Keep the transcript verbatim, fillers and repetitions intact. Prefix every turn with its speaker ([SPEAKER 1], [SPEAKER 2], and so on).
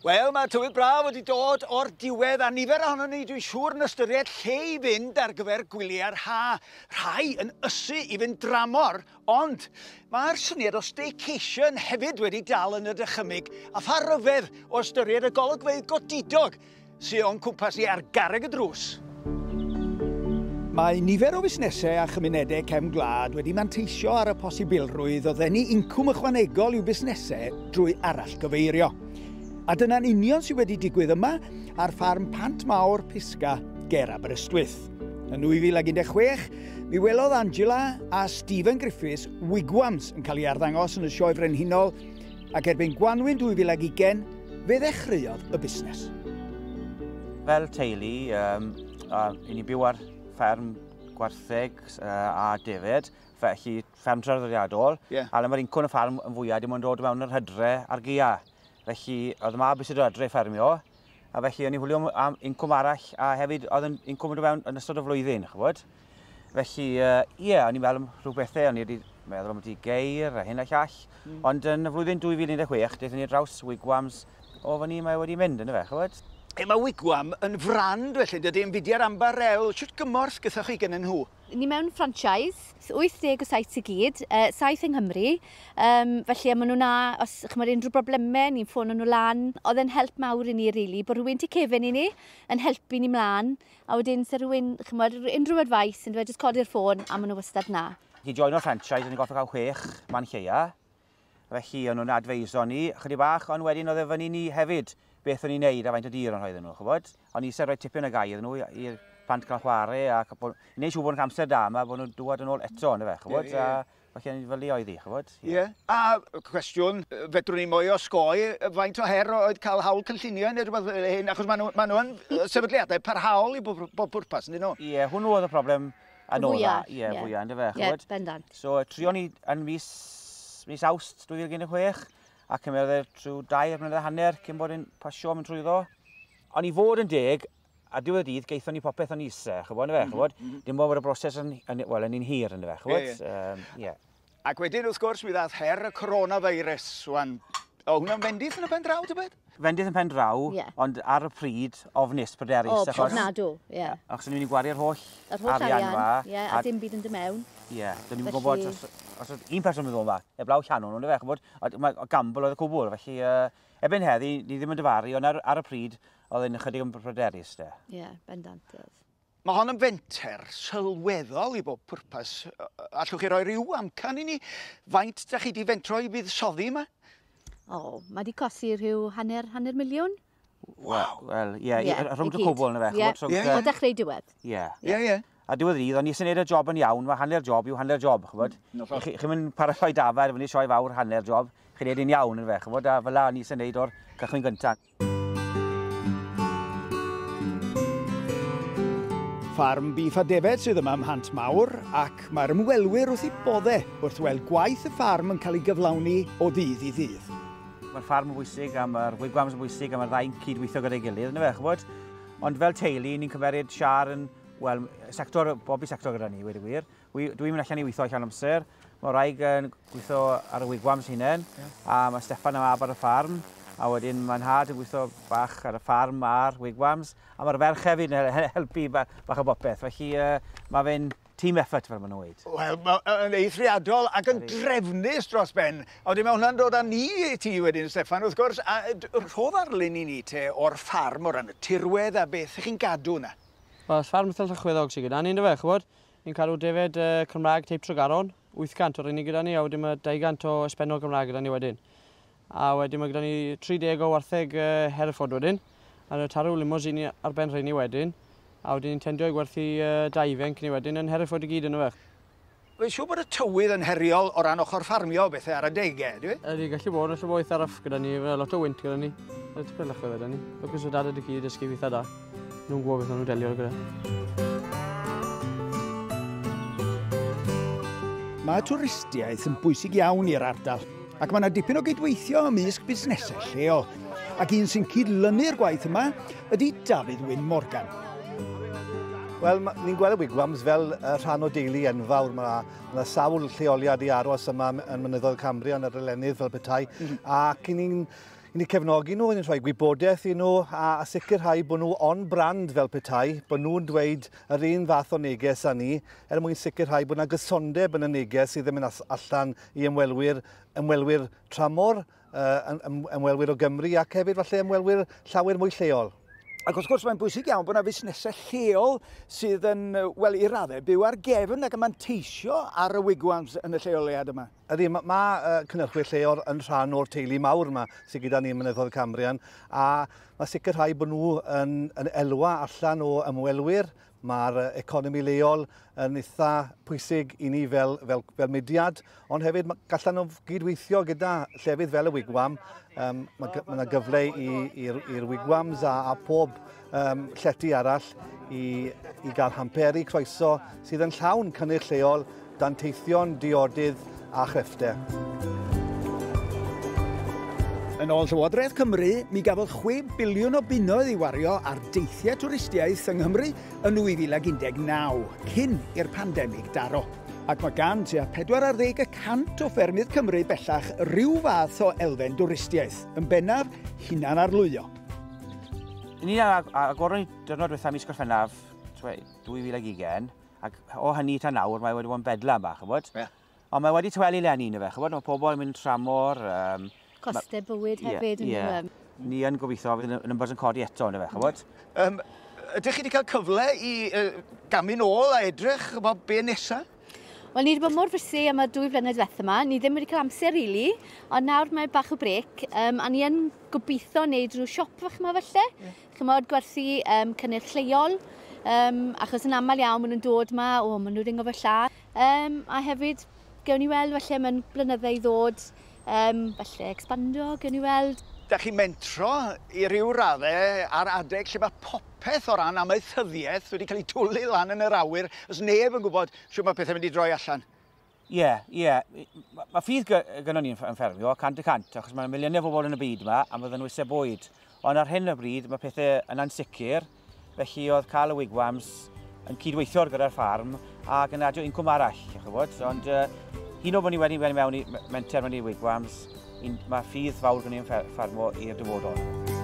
[SPEAKER 1] Wel, mae tywydd braf wedi dod o'r diwedd a nifer ohonon ni, dwi'n siŵr, yn ystyried lle i fynd ar gyfer gwyliau'r ha. Rhai yn ysu i fynd dramor, ond mae'r syniad o staycation hefyd wedi dal yn y dychymyg, a pha ryfedd o ystyried y golygfeydd godidog sydd o'n cwmpas ni ar garreg y drws. Mae nifer o fusnesau a chymunedau cefn gwlad wedi manteisio ar y posibilrwydd o ddenu incwm ychwanegol i'w busnesau drwy arallgyfeirio. A dyna'n union sydd wedi digwydd yma ar ffarm Pant Mawr Pisga ger Aberystwyth. Yn dwy fil ag un deg chwech, mi welodd Angela a Stephen Griffiths wigwams yn cael ei arddangos yn y Sioe Frenhinol, ac erbyn Gwanwyn dwy fil ag ugain, fe ddechreuodd y busnes.
[SPEAKER 2] Fel teulu, um, uh, i ni byw ar fferm gwartheg uh, a defed, felly fferm traddodiadol,
[SPEAKER 1] yeah.
[SPEAKER 2] A le mae'r incwm y ffarm yn fwyaf dim ond dod mewn yr hydre a'r gaea. Felly oedd y mab eisiau dod adre ffermio, a felly o'n i'n chwilio am incwm arall, a hefyd oedd yn incwm yn dod mewn yn ystod y flwyddyn, ch'bod. Felly, ie, uh, yeah, o'n i'n meddwl am rhyw bethau, o'n i wedi meddwl am y geir a hyn a llall, mm. Ond yn y flwyddyn dwy fil un deg chwech, daethon ni draws wigwams, o fan ni mae wedi mynd, yndyfe, ch'bod.
[SPEAKER 1] E, mae Wigwam yn frand felly, dydy, yn fudiad ambarel. Shwt gymorth gyda chi gynnyn nhw?
[SPEAKER 3] Ni mewn franchise, wyth deg o sites i gyd, uh, saith yng Nghymru. Um, felly, maen nhw na, os chymod unrhyw broblemau, ni'n ffono nhw lan. Oedd e'n help mawr i ni, really, bod rhywun tu cefen i ni yn helpu ni mlaen. A wedyn, se rhywun, chymod, unrhyw advice, yn dweud, jyst codi'r ffôn, a maen nhw wastad na.
[SPEAKER 2] I joino'r franchise, o'n i'n gorfod cael chwech man lleia. Felly, o'n nhw'n adfeiso ni, chydig bach, ond wedyn oedd e fyny ni hefyd beth o'n i'n neud a faint o dir o'n rhoi iddyn nhw, ch'bod? O'n i eisiau rhoi tipyn o gae iddyn nhw i'r plant cael chwarae a bod, i wneud siŵr bod nhw'n cael amser da yma, bod nhw'n dŵad yn ôl eto, yndyfe, ch'bod?
[SPEAKER 1] Ie, ie.
[SPEAKER 2] A felly fel i oedd hi, ch'bod?
[SPEAKER 1] Ie. Yeah. A cwestiwn, fedrwn ni mwy o osgoi, faint o her oedd cael hawl cynllunio neu rhywbeth fel hyn, achos maen nhw, maen nhw yn sefydliadau parhaol i bob, bob pwrpas, yndyn nhw?
[SPEAKER 2] Ie, yeah, hwnnw oedd y broblem anodda. Ie, yeah, fwyaf, yndyfe, ch'bod?
[SPEAKER 3] Ie, bendant.
[SPEAKER 2] So, trio ni yn mis, mis Awst dwy fil un deg chwech, a cymerodd e trwy dair mlynedd a hanner cyn bod yn pasio mynd trwyddo. Ond i fod yn deg, a diwedd y dydd, gaethon ni popeth o'n eisiau, ch'bod, yndyfe, ch'bod? Mm -hmm. Dim bod y broses yn, yn, wel, yn un hir, yndyfe, ch'bod?
[SPEAKER 1] Ie, ie.
[SPEAKER 2] Um, yeah.
[SPEAKER 1] Ac wedyn, wrth gwrs, mi ddath her y coronavirus, wan. O, hwnna'n fendith yn y pen draw, tybed?
[SPEAKER 2] Fendith yn pen draw,
[SPEAKER 3] yeah.
[SPEAKER 2] Ond ar y pryd, ofnus, pryderus.
[SPEAKER 3] O, ofnadw, ie. Yeah.
[SPEAKER 2] Achos o'n i'n mynd i gwario'r holl,
[SPEAKER 3] Yr holl
[SPEAKER 2] arian
[SPEAKER 3] arian,
[SPEAKER 2] fa.
[SPEAKER 3] Ie, yeah, a, a dim byd yn dod mewn.
[SPEAKER 2] Ie, yeah, do'n i'n gwybod os, os oedd un person yn ddod yma, eblaw llanw, yndyfe, ch'bod, mae gamble oedd y cwbl, felly uh, erbyn heddi, ni ddim yn dyfaru, ond ar, ar y pryd, oedd e'n ychydig yn pryderus, de.
[SPEAKER 3] Ie, yeah, bendant oedd.
[SPEAKER 1] Mae hon yn fenter sylweddol i bob pwrpas. Allwch chi roi rhyw amcan i ni? Faint da chi di fentro i buddsoddi yma?
[SPEAKER 3] O, mae di cosi rhyw hanner, hanner miliwn.
[SPEAKER 2] Waw. Wel, ie, rhwng y cwbl na fe.
[SPEAKER 3] Ie,
[SPEAKER 1] Ie.
[SPEAKER 3] o dechrau diwedd.
[SPEAKER 2] Ie.
[SPEAKER 1] Ie, ie.
[SPEAKER 2] A diwedd y dydd, o'n i eisiau gwneud y job yn iawn, mae hanner job yw hanner job, ch'bod?
[SPEAKER 1] Mm,
[SPEAKER 2] Chi'n mynd paratoi dafad, fyny sioe fawr hanner job, chi'n gwneud un iawn yn fe, ch'bod? A fel la o'n i eisiau gwneud o'r cychwyn gyntaf.
[SPEAKER 1] Ffarm bîff a defed sydd yma ym Mhant Mawr, ac mae'r ymwelwyr wrth eu bodde wrth weld gwaith y ffarm yn cael ei gyflawni o ddydd i ddydd.
[SPEAKER 2] Mae'r ffarm yn bwysig, a mae'r wigwams yn bwysig, a mae'r ddau'n cydweithio gyda'i gilydd, yndyfe, ch'bod? Ond fel teulu, ni'n cymeryd siar yn, wel, sector, bob i sector gyda ni, wedi gwir. Dwi'n mynd allan i weithio allan amser, mae wraig yn gweithio ar y wigwams hunain, yeah. A mae Steffan a mab ar y ffarm, a wedyn mae nhad yn gweithio bach ar y ffarm a'r wigwams, a mae'r ferch hefyd yn helpu bach o bopeth, felly uh, mae fe'n team effort, fel maen nhw'n weud.
[SPEAKER 1] Wel, mae'n eithriadol ac yn drefnus dros ben. A wedyn mae hwnna'n dod â ni i ti wedyn, Steffan, wrth gwrs. A rho ddarlun i ni te o'r ffarm o ran y tirwedd a beth ych chi'n gadw yna?
[SPEAKER 4] Wel, ffarm eitha llychweddog sydd gyda ni, yndyfe, ch'bod? Ni'n cadw defed uh, Cymraeg teip Tregaron, wyth cant o'r unig gyda ni, a wedyn mae dau gant o Espenol Gymraeg gyda ni wedyn. A wedyn mae gyda ni tri deg o wartheg uh, Hereford wedyn, a tarw limousine ar ben rheini wedyn. A wedyn ni'n tendio i gwerthu uh, dau fenc ni wedyn yn Hereford i gyd yn y fe.
[SPEAKER 1] Mae'n siŵr bod y tywydd yn heriol o ran ochr ffarmio bethau ar adegau, dwi?
[SPEAKER 4] Ydy, gallu bod, gallu bod eitha rough gyda ni, lot o wynt gyda ni. Tipyn llychwedd gyda ni. Lwcus o dad ydy gyd dysgu fi eitha da. Nhw'n gwybod beth nhw'n delio gyda.
[SPEAKER 1] Mae twristiaeth yn bwysig iawn i'r ardal, ac mae yna dipyn o gydweithio ymysg busnesau lleol. Ac un sy'n cydlynu'r gwaith yma ydy Dafydd Wyn Morgan.
[SPEAKER 5] Wel, ni'n gweld y wigwams fel rhan o deulu enfawr. Mae yna sawl lleoliad i aros yma yn Mynyddoedd Cambria yn yr Elenydd fel petai. Mm -hmm. Ac ni'n I ni cefnogi nhw, ni'n rhoi gwybodaeth i nhw a, a sicrhau bod nhw on brand fel petai, bod nhw'n dweud yr un fath o neges â ni, er mwyn sicrhau bod yna gysondeb yn y neges sydd yn mynd allan i ymwelwyr, ymwelwyr tramor, uh, ymwelwyr o Gymru ac hefyd falle ymwelwyr llawer mwy lleol.
[SPEAKER 1] Ac wrth gwrs mae'n bwysig iawn bod yna fusnesau lleol sydd yn, wel, i raddau byw ar gefn ac yn manteisio ar y wigwams yn y lleoliad yma.
[SPEAKER 5] Ydy, mae ma, uh, cynhyrchwyr lleol yn rhan o'r teulu mawr yma sydd gyda ni ym Mynyddoedd Cambrian, a mae sicrhau bod nhw yn, yn elwa allan o ymwelwyr. Mae'r economi leol yn eitha pwysig i ni fel, fel, fel mudiad, ond hefyd gallan nhw gydweithio gyda llefydd fel y wigwam. Um, mae yna gyfle i'r wigwams a, a pob um, llety arall i, i gael hamperi croeso sydd yn llawn cynnyrch lleol, danteithion, diodydd a chrefftau.
[SPEAKER 1] Yn ôl Llywodraeth Cymru, mi gafodd chwe biliwn o bunnoedd ei wario ar deithiau twristiaeth yng Nghymru yn nwy fil ag un deg naw, cyn i'r pandemig daro. Ac mae gan tua pedwar ar ddeg y cant o ffermydd Cymru bellach rhyw fath o elfen dwristiaeth, yn bennaf hunan arlwyo.
[SPEAKER 2] Ni agoron ni diwrnod diwethaf mis Gorffennaf dwy fil ag ugain, ac o hynny tan nawr mae wedi bod yn bedlam bach, ch'bod? Yeah. Ond mae wedi tawelu leni, yndyfe, ch'bod? Mae pobl yn mynd tramor. Um,
[SPEAKER 3] Costau bywyd hefyd.
[SPEAKER 2] Yeah, yeah. Ni yn gobeithio fydd y numbers yn codi eto, yndyfe, ch'bod?
[SPEAKER 1] Um, ydych chi wedi cael cyfle i uh, gamu nôl a edrych bod be nesaf?
[SPEAKER 3] Wel, ni wedi bod mor fysu am y dwy flynedd diwethaf yma. Ni ddim wedi cael amser, really, ond nawr mae bach o brec, um, a ni yn gobeithio wneud rhyw siop fach yma falle. Yeah. Chymod, gwerthu um, cynnyrch lleol, um, achos yn aml iawn maen nhw'n dod yma, o, maen nhw'n ringo fy lla. Um, a hefyd, gewn ni weld falle mewn blynydde i ddod, um, falle expando, gewn ni weld.
[SPEAKER 1] Da chi'n mentro i ryw raddau ar adeg lle mae popeth o ran amaethyddiaeth wedi cael ei twlu lan yn yr awyr, os neb yn gwybod shwt mae pethau'n mynd i droi allan.
[SPEAKER 2] Ie, ie. Mae ffydd gynnon ni yn ffermio, cant y cant, achos mae miliynau o bobl yn y byd yma a bydden nhw eisiau bwyd. Ond ar hyn o bryd mae pethau yn ansicr, felly oedd cael y wigwams yn cydweithio gyda'r ffarm ac yn adio incwm arall, ch'bod. Ond uh, hyn o bod ni wedi mewn i menter mewn i wigwams, mae ffydd fawr gen i yn ffermo i'r dyfodol.